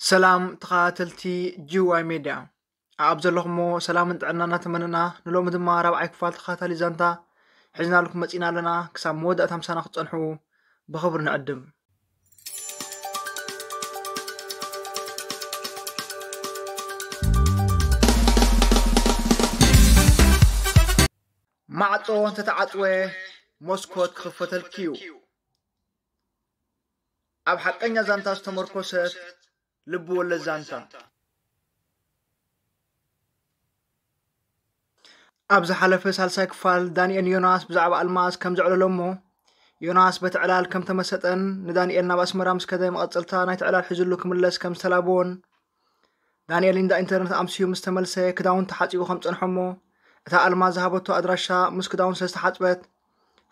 ሰላም ተኸታተልቲ ጂ ዋይ ሜድያ፣ ኣብ ዘለኹሞ ሰላምን ጥዕና እናተመነና፣ ንሎሚ ድማ ራብዓይ ክፋል ተኸታታሊ ዛንታ ሒዝናልኩም መጺና ኣለና። ክሳብ መወዳእታ ምሳና ክትጸንሑ ብኽብሪ ንዕድም። ማዕጾ እንተተዓጽወ፣ መስኮት ክኽፈተልኪ እዩ። ኣብ ሓቀኛ ዛንታ ዝተመርኮሰት ልቢ ወለድ ዛንታ። ኣብ ዝሓለፈ ሳልሳይ ክፋል፣ ዳንኤል ንዮናስ ብዛዕባ ኣልማዝ ከም ዘዕለሎ እሞ፣ ዮናስ በቲ ዕላል ከም ተመሰጠን ንዳንኤል ናብ ኣስመራ ምስ ከደ መቐጸልታ ናይቲ ዕላል ሒዝሉ ክምለስ ከም ዝተላበዎን፣ ዳንኤል እንዳ ኢንተርነት ኣምስዩ ምስ ተመልሰ፣ ክዳውንቱ ሓጺቡ ከም ጸንሖ እሞ፣ እታ ኣልማዝ ዝሃበቶ ኣድራሻ ምስ ክዳውንቱ ስለ ዝተሓጽበት፣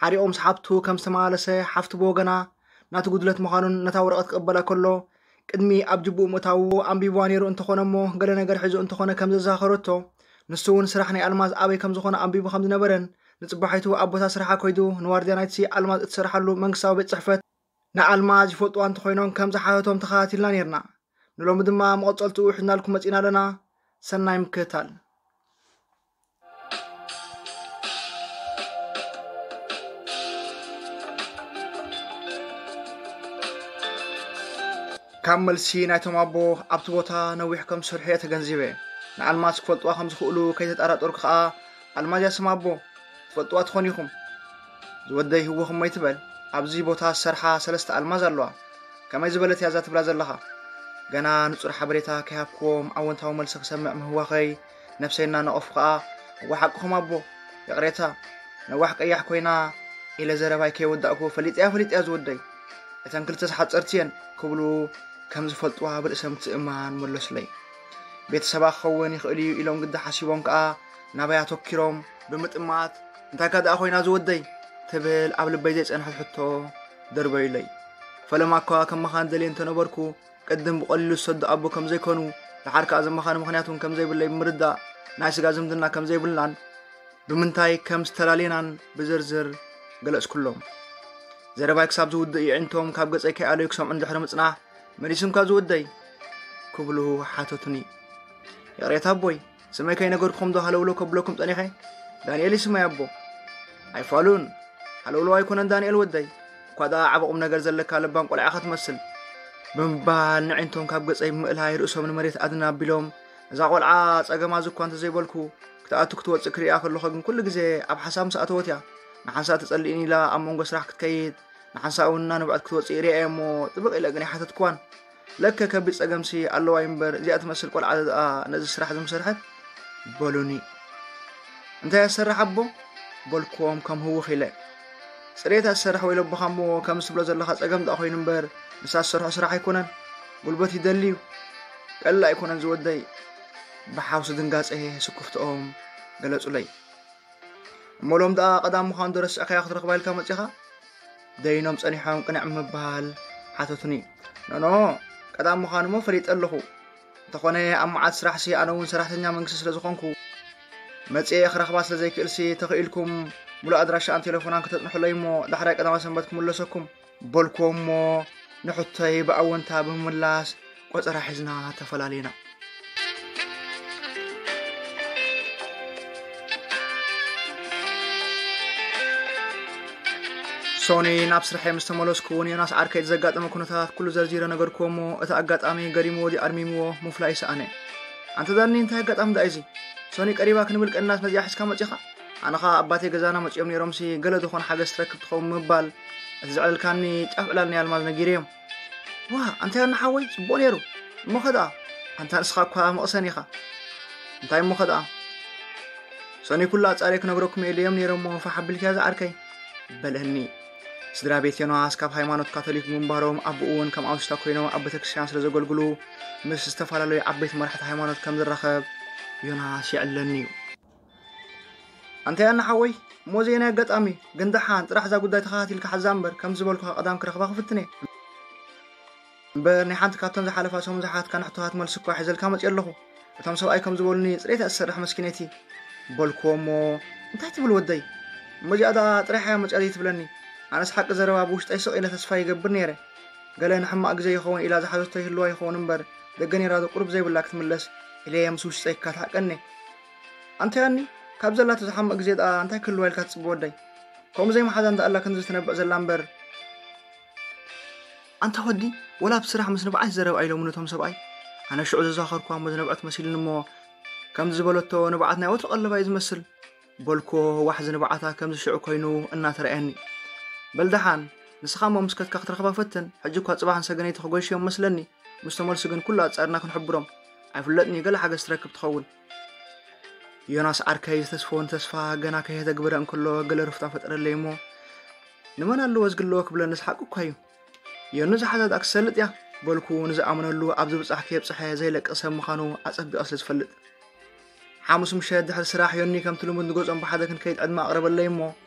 ሓሪቑ ምስ ሓብቱ ከም ዝተመላለሰ፣ ሓፍቱ ብወገና ናቲ ጉድለት ምዃኑን ነታ ወረቐት ክቕበላ ከሎ፣ ቅድሚ ኣብ ጅቡኡ ምእታዉ ኣንቢብዋ ነይሩ እንተኾነ እሞ፣ ገለ ነገር ሒዙ እንተኾነ ከም ዘዘኻኸረቶ፣ ንሱ እውን ስራሕ ናይ ኣልማዝ ኣበይ ከም ዝኾነ ኣንቢቡ ከም ዝነበረን፣ ንጽባሒቱ ኣብ ቦታ ስራሓ ኮይዱ ንዋርድያ ናይቲ ኣልማዝ እትሰርሓሉ መንግስታዊ ቤት ጽሕፈት ንኣልማዝ ይፈልጥዋ እንተኾይኖም ከም ዝሓተቶም ተኸታቲልና ነይርና። ንሎሚ ድማ መቐጸልትኡ ሒዝናልኩም መጺና ኣለና። ሰናይ ምክትታል። ካብ መልሲ ናይቶም ኣቦ ኣብቲ ቦታ ነዊሕ ከም ዝሰርሑ እየ ተገንዚበ። ንኣልማዝ ክፈልጥዋ ከም ዝኽእሉ ከይተጠራጠርኩ ከኣ፣ ኣልማዝ እያ ስማ ኣቦ፣ ትፈልጥዋ ትኾኑ ኢኹም። ዝወደይ ህወኽ እሞ ኣይትበል፣ ኣብዚ ቦታ ዝሰርሓ ሰለስተ ኣልማዝ ኣለዋ። ከመይ ዝበለት እያ እዛ ትብላ ዘለኻ? ገና ንጹር ሓበሬታ ከይሃብክዎም ኣወንታዊ መልሲ ክሰምዕ ምህዋኸይ፣ ነብሰይ እናነቐፉ ከኣ፣ "እወ ሓቅኹም ኣቦ፣ ይቕሬታ፣ ነዋሕ ቀያሕ ኮይና" ኢለ ዘረባይ ከይወዳእኩ፣ "ፈሊጠያ፣ ፈሊጠያ ዝወደይ፣ እተን ክልተስ ሓጸርቲ እየን" ክብሉ ከም ዝፈልጥዋ ብርእሰ ምትእምማን መለሱለይ። ቤተሰባ ክኸውን ይኽእል እዩ ኢሎም ግዲ ሓሲቦም ከኣ ናበይ ኣተኪሮም ብምጥማት፣ "እንታይካ ደኣ ኮይና ዝወደይ?" ትብል ኣብ ልበይ ዘይጸንሐት ሕቶ ደርበዩለይ። ፈለማ እኳ ከም መኻን ደልየ እንተነበርኩ፣ ቅድም ብቐሊሉ ዝሰዱ ኣቦ ከም ዘይኮኑ፣ ደሓር ከኣ ዘመኻኒ ምኽንያት እውን ከም ዘይብለይ ብምርዳእ፣ ናይ ስጋ ዝምድና ከም ዘይብልናን ብምንታይ ከም ዝተላለየናን ብዝርዝር ገለጽኩሎም። ዘረባይ ክሳብ ዝውድእ የዒንቶም ካብ ገጸይ ከይኣለዩ ክሰምዑ እንድሕሪ ምጽናሕ፣ "መሊስምካ ዝወደይ?" ክብሉ ሓተቱኒ። "ይቕሬታ ኣቦይ፣ ስመይ ከይነገርኩኹም ዶ ሃለውለው ከብለኩም ጸኒሐ? ዳንኤል እዩ ስመይ ኣቦ." "ኣይፋሉን፣ ሃለውለው ኣይኮነን ዳንኤል ወደይ፣ እኳ ደኣ ዓቢ ቁም ነገር ዘለካ ለባም ቆልዓ ኢኻ ትመስል" ብምባል ነዒንቶም ካብ ገጸይ ብምእላይ ርእሶም ንመሬት ኣድን ኣቢሎም፣ "እዛ ቆልዓ ጸገማ እዚ እኳ እንተዘይበልኩ፣ ክትኣቱ ክትወጽእ ክርእያ ከለኹ ግን ኩሉ ግዜ ኣብ ሓሳብ ምስ ኣተወት እያ ንሓንሳእ ትጸልእኒ ኢላ ኣብ መንጎ ስራሕ ክትከይድ፣ ንሓንሳእ እውን እናነብዐት ክትወጽእ ርእያ እየ እሞ ጥብቕ ኢለ ግን ኣይሓተትክዋን። ለከ ከቢድ ጸገምሲ ኣለዋ እዩ እምበር፣ እዚኣ ትመስል ቆልዓ ደኣ ነዚ ስራሕ እዚ ምሰርሐት?" በሉኒ። "እንታይ እያ ትሰርሕ ኣቦ?" በልክዎም ከም ህውኽ ኢለ። "ጽሬት እያ ትሰርሕ ወይ ለቦኻ እሞ፣ ከምዚ ትብሎ ዘለኻ ጸገም ደኣ ኮይኑ እምበር፣ ንሳ ትሰርሖ ስራሕ ኣይኮነን። ጉልበት ይደሊ እዩ። ቀሊል ኣይኮነን ዝወደይ" ብሓውሲ ድንጋጸ ስክፍትኦም ገለጹለይ። "እሞ ሎም ደኣ ቀዳም ምዃኑ ዶ ረሲዕካዮ ክትረኽባ ኢልካ መጺኻ?" ደይኖም ጸኒሖም ቅንዕ ምባል ሓተቱኒ። "ኖኖ፣ ቀዳም ምዃኑ እሞ ፈሊጠ ኣለኹ። እንተኾነ ኣብ መዓት ስራሕሲ ኣነ እውን ሰራሕተኛ መንግስቲ ስለ ዝኾንኩ፣ መጺኤ ክረኽባ ስለ ዘይክእልሲ፣ ተኽኢልኩም ሙሉእ ኣድራሻኣን ቴሌፎናን ከተጽንሑለይ እሞ ዳሕራይ ቀዳማይ ሰንበት ክምለሰኩም" በልክዎም እሞ ንሕቶይ ብኣወንታ ብምምላስ ቆጸራ ሒዝና ተፈላሊና። ሶኒ ናብ ስርሐይ ምስ ተመለስኩ፣ ንዮናስ ዓርከይ ዘጋጠመ ኩነታት ኩሉ ዘርዚረ ነገርክዎ እሞ፣ እቲ ኣጋጣሚ ገሪምዎ ድዩ ኣርሚምዎ ምፍላይ ይሰኣነ። "ኣንታ ዳኒ፣ እንታይ ኣጋጣሚ ደኣ እዚ? ሶኒ ቀሪባ ክንብል ቀኒናስ ነዚኣ ሒዝካ መጺኻ? ኣነ ኸኣ ኣባቴ ገዛና መጺኦም ነይሮምሲ፣ ገለ ዝኾነ ሓገዝ ትረክብ ትኸውን" ምባል፣ እቲ ዘዕለልካኒ ጫፍ ዕላል ናይ ኣልማዝ ነጊረዮም። "ዋ፣ ኣንታ ዮኒ ሓወይ፣ ጽቡቕ ነይሩ። እሞ ኸ ደኣ?" "ኣንታ ንስኻ እኳ መቕሰን ኢኻ። እንታይ እሞ ኸ ደኣ? ሶኒ ኩሉ ኣጻርየ ክነግረኩም እየ ኢለዮም ነይረ እሞ ፋሕ ኣቢልክያ ዝዓርከይ" በለኒ። ስድራ ቤት ዮናስ ካብ ሃይማኖት ካቶሊክ ብምንባሮም፣ ኣቦኡ እውን ከም ኣውሽታ ኮይኖም ኣብ ቤተክርስትያን ስለ ዘገልግሉ፣ ምስ ዝተፈላለዩ ዓበይቲ መራሕቲ ሃይማኖት ከም ዝራኸብ ዮናስ የዕለኒ እዩ። "ኣንታ ዮኒ ሓወይ፣ እሞ ዘይናይ ኣጋጣሚ፣ ግን ደሓን ጥራሕ እዛ ጉዳይ ተኸታቲልካ ሓዛ እምበር፣ ከም ዝበልኩኻ ቀዳም ክረኽባ ክፍትን እየ። እምበር ናይ ሓንቲ ካብተን ዝሓለፋ ሰሙን ዝሓትካ ንሕቶታት መልሲ እኳ ሒዘልካ መፅየ ኣለኹ። እቶም ሰብኣይ ከም ዝበሉኒ፣ ፅሬት እያ ትሰርሕ መስኪነይቲ" በልክዎ እሞ፣ "እንታይ ትብል ወደይ? እሞ እዚኣ ደኣ ጥሪሓ እያ መፅያ ዘይትብለኒ?" ኣነስ ሓቂ ዘረባ ብውሽጠይ ስቕ ኢለ ተስፋ ይገብር ነይረ። ገለ ንሕማቕ ግዜ ይኸውን ኢላ ዝሓዘቶ ይህልዋ ይኸውን እምበር፣ ደገ ነይራ ዶ ቁሩብ ዘይብላ ክትምለስ ኢለ ምስ ውሽጠይ ክካታዕ ቀንየ። ኣንታ ዮኒ፣ ካብ ዘላቶ ዝሓምቕ ግዜ ደኣ እንታይ ክህልዋ ኢልካ ትጽበ ወደይ? ከምኡ ዘይመሓዛ እንዳ ኣላ ክንዲ ትነብዕ ዘላ እምበር። ኣንታ ወዲ፣ ወላ ኣብ ስራሕ ምስ ንብዓት ይዘረብ ኣይሎምን እቶም ሰብኣይ። ኣነ ሽዑ ዘዛኸርኩዋ እሞ ዝነብዐት መሲሉኒ እሞ፣ ከምዚ ዝበለቶ ንብዓት ናይ ወትሩ ቀለባ እዩ ዝመስል። በልኩዎ፣ ዋሕዚ ንብዓታ ከምዚ ሽዑ ኮይኑ እናተረኣየኒ። በል ደሓን፣ ንስኻ እሞ ምስ ከድካ ክትረኽባ ፈትን፣ ሕጂ እኳ ጽባሕ ንሰገነይቲ ክጎይሽዮም መስለኒ። ምስ ተመልሱ ግን ኩሉ ኣጻርና ክንሕብሮም። ኣይፍለጥን እዩ፣ ገለ ሓገዝ ትረክብ ትኸውን። ዮናስ ዓርከይ ዝተስፈወን ተስፋ ገና ከየተግብረ እንከሎ ገለ ሩፍታ ፈጠረለይ እሞ፣ ንመን ኣለዎ ዝግልዎ ክብለንስ ሓቂ እኳ እዩ። ዮኒ ዝሓዛ ደኣ ክሰልጥ እያ በልኩ፣ ንዝኣምነሉ ኣብ ዝብጻሕ ከየብጽሐ ዘይለቅቕ ሰብ ምዃኑ ኣጸቢቐ ስለ ዝፈልጥ። ሓሙስ ምሸት ድሕሪ ስራሕ ዮኒ ከምቲ ልሙድ ንገዝኦም ብሓደ ክንከይድ ዕድመ ኣቕረበለይ እሞ፣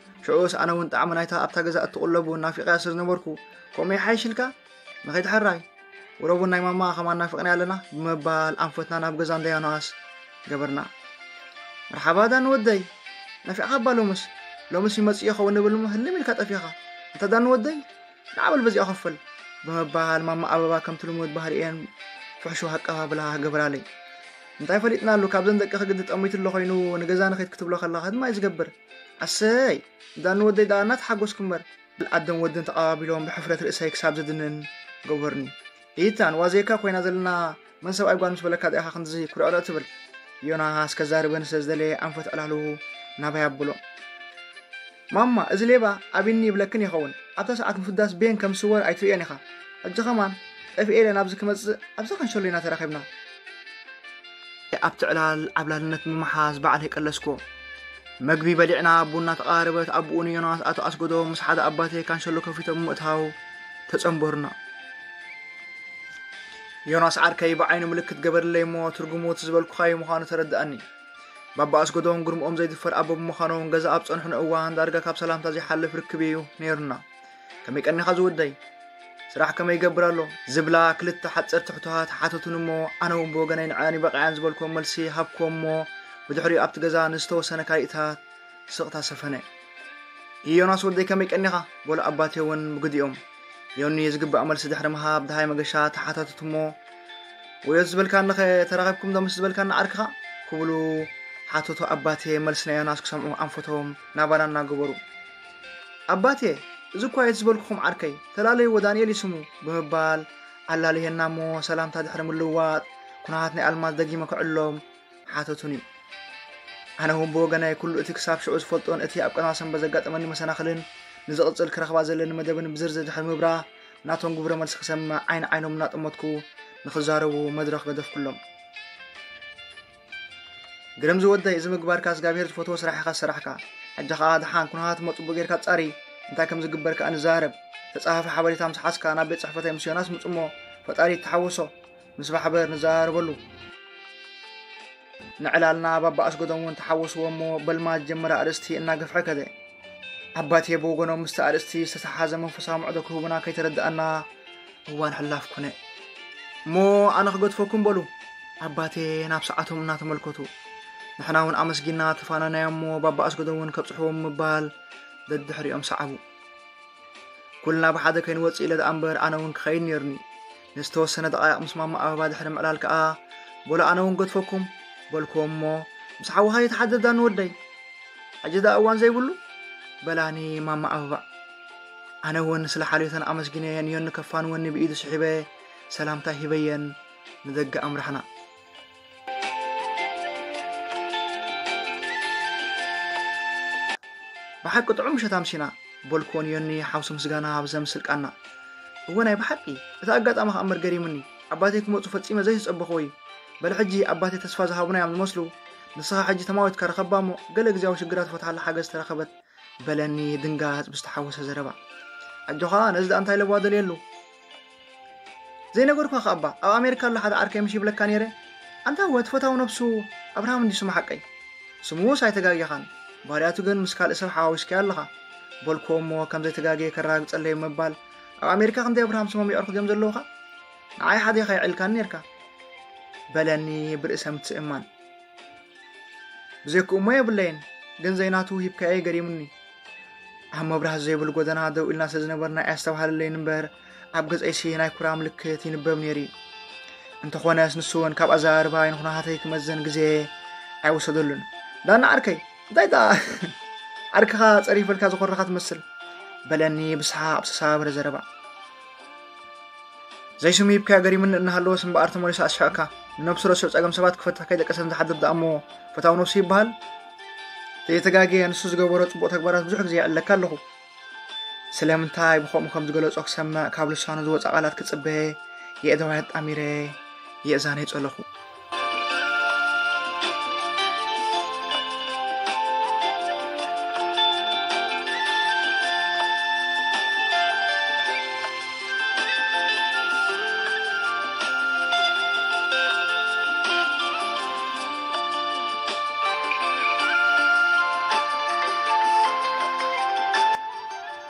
ሽዑስ ኣነ እውን ጣዕሚ ናይታ ኣብታ ገዛ እትቕለቡ ናፊቐያ ስለ ዝነበርኩ፣ ከምኡ ይሓይሽ ኢልካ ንኸይድ ሕራይ፣ ወረቡን ናይ ማማ ከማን ናፊቕና ኣለና ብምባል ኣንፈትና ናብ ገዛ እንዳ ዮናስ ገበርና። መርሓባ ዳኒ ወደይ፣ ናፊቕካ እባ ሎምስ፣ ሎምስ ይመጽእ ይኸውን ንብል እሞ ህልም ኢልካ ጠፊኻ። እንተ ዳኒ ወደይ፣ ንዓ በል በዚኣ ኮፍ በል ብምባል ማማ ኣበባ ከምቲ ልሙድ ባህሪኤን ፍሕሹው ኣቀባብላ ገበራለይ። እንታይ ፈሊጥናሉ፣ ካብዘን ደቅኺ ግዲ ጠሚቱ ኣሎ ኮይኑ ንገዛ ንኺድ ክትብሎ ከለኻ ድማ እዩ ዝገብር። ኣሰይ፣ ዳኒ ወደይ ደኣ እናተሓጎስኩ እምበር። ኣደን ወድን ተቐባቢሎም ብሕፍረት ርእሰይ ክሳብ ዝድንን ገበሩኒ። ኢታን፣ ዋዜካ ኮይና ዘለና መን ሰብኣይ ጓል ምስ በለካ ደኣ ኢኻ ክንድዚ ኩርዕርዕ ትብል? ዮናስ ከዛርበኒ ስለ ዝደለየ ኣንፈት ዕላሉ ናባይ ኣብሎ። ማማ፣ እዚ ሌባ ኣቢኒ ይብለክን ይኸውን። ኣብታ ሰዓት ምፍዳስ ቤን ከም ዝስወር ኣይትርእዮን ኢኻ። ሕጂ ኸማን ጠፊኤ ኢለ ናብዚ ክመጽእ ኣብዛ ካንሸሎ ኢና ተራኺብና። ኣብቲ ዕላል ዓብላልነት ብምሓዝ ባዕለይ ቀለስኩዎ። መግቢ በሊዕና ቡና ተቐራረበት። ኣቡኡ ንዮናስ ኣቶ ኣስገዶም ምስ ሓደ ኣባቴ ካንሸሎ ከፊቶም ምእታው ተጸንበሩና። ዮናስ ዓርከይ ብዓይኑ ምልክት ገበርለይ እሞ ትርጉሙ እቲ ዝበልኩኻዮ ምዃኑ ተረድኣኒ። ባባ ኣስገዶም ግርምኦም ዘይድፈር ኣቦ ብምዃኖም ገዛ ኣብ ጸንሑኒ እዋን ዳርጋ ካብ ሰላምታ ዘይሓልፍ ርክብ እዩ ነይሩና። ከመይ ቀኒኻ ዝውደይ? ስራሕ ከመይ ይገብር ኣሎ? ዝብላ ክልተ ሓጸርቲ ሕቶታት ሓተቱኒ እሞ ኣነ እውን ብወገነይ ንዐን ይበቕዐን ዝበልኩዎም መልሲ ሃብኩዎም እሞ ብድሕሪኡ ኣብቲ ገዛ ንዝተወሰነ ካልኢታት ስቕታ ሰፈነ። ዮናስ ወደይ ከመይ ቀኒኻ? በሉ ኣባቴ እውን ብግዲኦም። ዮኒ ዝግባእ መልሲ ድሕሪ ምሃብ ደሃይ መገሻ ተሓታተቱ እሞ ወዮ ዝበልካንኸ ተራኺብኩም ዶ ምስ ዝበልካኒ ዓርክኻ? ክብሉ ሓተቱ ኣባቴ መልሲ ናይ ዮናስ ክሰምዑ ኣንፈቶም ናባና እናገበሩ። ኣባቴ፣ እዚ እኳ እዩ ዝበልኩኹም ዓርከይ፣ ተላለይዎ ዳንኤል እዩ ስሙ ብምባል ኣላልየና እሞ ሰላምታ ድሕሪ ምልውዋጥ ኩነታት ናይ ኣልማዝ ደጊመ ክዕሎም ሓተቱኒ። ኣነ እውን ብወገናይ ኩሉ እቲ ክሳብ ሽዑ ዝፈልጦን እቲ ኣብ ቀዳማ ሰንበት ዘጋጠመኒ መሰናኽልን ንዝቕጽል ክረኽባ ዘለኒ መደብን ብዝርዝር ድሕሪ ምብራህ ናቶም ግብረ መልሲ ክሰምዕ ዓይኒ ዓይኖም እናጠመትኩ ንኽዛረቡ መድረኽ ገደፍኩሎም። ግርም ዝወደይ፣ እዚ ምግባርካ እግዚኣብሔር ዝፈትዎ ስራሕ ኢኻ ዝሰራሕካ። ሕጂ ኸኣ ደሓን ኩነታት እሞ ጽቡቕ ጌርካ ጻሪ፣ እንታይ ከም ዝግበር ከኣ ንዛረብ። ተጻሓፊ ሓበሬታ ምስ ሓዝካ ናብ ቤት ጽሕፈተይ ምስ ዮናስ ምጽሞ፣ ፈጣሪ ይተሓወሶ። ምስ ማሕበር ንዘራረበሉ። ንዕላልና ባባ ኣስገዶም እውን ተሓወስዎ እሞ በልማ ዝጀመረ ኣርእስቲ እናገፍሐ ከደ። ኣባቴ ብወገኖም ምስቲ ኣርእስቲ ዝተተሓሓዘ መንፈሳዊ ምዕዶ ክህቡና ከይተረድኣና እዋን ሕላፍ ኮነ። እሞ ኣነ ክገድፈኩም በሉ ኣባቴ ናብ ሰዓቶም እናተመልከቱ። ንሕና እውን ኣመስጊና ተፋነናዮ እሞ ባባ ኣስገዶም እውን ከብጽሕዎም ምባል ደድሕሪኦም ሰዓቡ። ኩልና ብሓደ ከይንወጽእ ኢለ ደኣ እምበር ኣነ እውን ክኸይድ ነይሩኒ። ንዝተወሰነ ደቓይቕ ምስ ማማ ኣበባ ድሕሪ ምዕላል ከኣ በሉ ኣነ እውን ገድፈኩም በልክዎም እሞ ምስ ሓውኻ ይተሓደዳ ንወደይ። ሕጂ ደኣ እዋን ዘይብሉ በላኒ ማማ ኣበባ። ኣነ እውን ስለ ሓልዮተን ኣመስጊነየን ዮኒ ከፋንወኒ ብኢዱ ስሒበ ሰላምታ ሂበየን ንደገ ኣምራሕና። ብሓቂ ጥዑም ምሸት ኣምሲና በልክዎ ንዮኒ ሓውሲ ምስጋና ብዘምስል ቃና። እወ ናይ ብሓቂ እቲ ኣጋጣሚ ከኣ እምበር ገሪሙኒ። ኣባተይ ክመጹ ፈጺመ ዘይዝጸበኽዎ እዩ። በል ሕጂ ኣባተይ ተስፋ ዝሃቡና እዮም ዝመስሉ። ንስኻ ሕጂ ተማዊትካ ርኸባ እሞ ገለ ግዜያዊ ሽግራት ፈትሓላ ሓገዝ ተረኸበት በለኒ ድንጋጽ ብዝተሓወሰ ዘረባ። ኣጆኻ ነዚ ደኣ እንታይ ለባ ደልየሉ? ዘይነገርኳ ከኣ እባ ኣብ ኣሜሪካ ኣሎ ሓደ ዓርከይ ምሽ ይብለካ ነይረ። ኣንታ እወ እቲ ፈታዊ ነብሱ ኣብርሃም እንድዩ ስሙ ሓቀይ። ስሙስ ኣይተጋጌኻን። ባህርያቱ ግን ምስ ካልእ ሰብ ሓዋዊስካዮ ኣለኻ። በልክዎ እሞ ከም ዘይተጋግየ ከረጋግጸለይ ምባል ኣብ ኣሜሪካ ክንደይ ኣብርሃም ስሞም የዕርኹ ድዮም ዘለዉኻ? ንዓይ ሓደ ኢኻ የዕልካኒ ነይርካ። በለኒ ብርእሰ ምትእምማን። ብዘይክኡ እሞ የብለይን፣ ግን ዘይናቱ ሂብካዮ ገሪሙኒ። ኣብ መብራህቲ ዘይብሉ ጎደና ደው ኢልና ስለ ዝነበርና ኣየስተብሃለለይን እምበር፣ ኣብ ገጸይሲ ናይ ኩራ ምልክት ይንበብ ነይሩ እዩ። እንተኾነስ ንሱ እውን ካብ ኣዘራርባይ ንኹነታተይ ክመዘን ግዜ ኣይወሰደሉን። ዳና ዓርከይ፣ እንታይ ደኣ ዓርክኻ ጸሪፈልካ ዝኾረኻ ትመስል? በለኒ ብሰሓቕ ብዝተሰባበረ ዘረባ። ዘይስሙ ሂብካዮ ገሪሙኒ እናሃለወስ እምበኣር ተመሊሱ ኣስሒቕካ። ንነብሱ ረሲዑ ጸገም ሰባት ክፈትሕ ከይደቀሰ ንዝሓድር ደኣ እሞ ፈታዊ ነብሱ ይበሃል? ዘይተጋግየ ንሱ ዝገበሮ ጽቡቕ ተግባራት ብዙሕ ግዜ ይዕለካ ኣለኹ። ስለምንታይ ብኸምኡ ከም ዝገለጾ ክሰምዕ ካብ ልሳኑ ዝወጽእ ቃላት ክጽበ የእዳወይ ኣጣሚረ የእዛነይ ጸለኹ።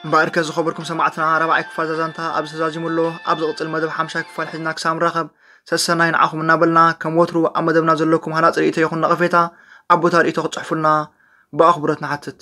እምበኣርከ ዝኸበርኩም ሰማዕትና፣ ራብዓይ ክፋል ዛዛንታ ኣብዚ ተዛዚሙ ኣሎ። ኣብ ዝቕጽል መደብ ሓምሻይ ክፋል ሒዝና ክሳብ ንራኸብ፣ ሰሰናይ ንዓኹም እናበልና፣ ከም ወትሩ ኣብ መደብና ዘለኩም ሃናጺ ርእይቶ ይኹን ነቐፌታ ኣብ ቦታ ርእይቶ ክትጽሕፉልና ብኣኽብሮት ንሓትት።